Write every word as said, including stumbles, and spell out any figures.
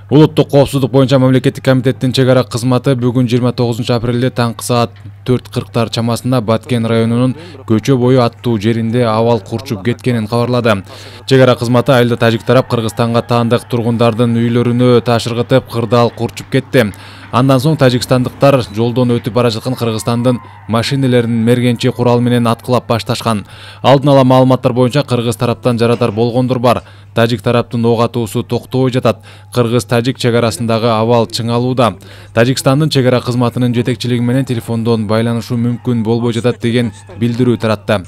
Улуттук коопсуздук боюнча мамлекеттик комитеттин чек ара кызматы бүгүн жыйырма тогузунчу апрелде таңкы саат төрт кырктар чамасында Баткен районунун Көчө бою аттуу жеринде абал курчуп кеткенин кабарлады. Чек ара кызматы айылда тажик тарап Кыргызстанга таандык тургундардын үйлөрүнө таш ыргытып, кырдаал курчуп кетти. Андан соң тажикстандыктар жолдон өтүп бара жаткан Кыргызстандын машинелерин мергенчи курал менен аткылап башташкан. Алдын ала маалыматтар боюнча кыргыз тараптан жарадар болгондор бар. Тажик тараптын ок атуусу токтобой жатат. Кыргыз-тажик чек арасындагы абал чыңалууда. Тажикстандын чек ара кызматынын жетекчилиги менен телефондон байланышуу мүмкүн болбой жатат деген билдирүү таратты.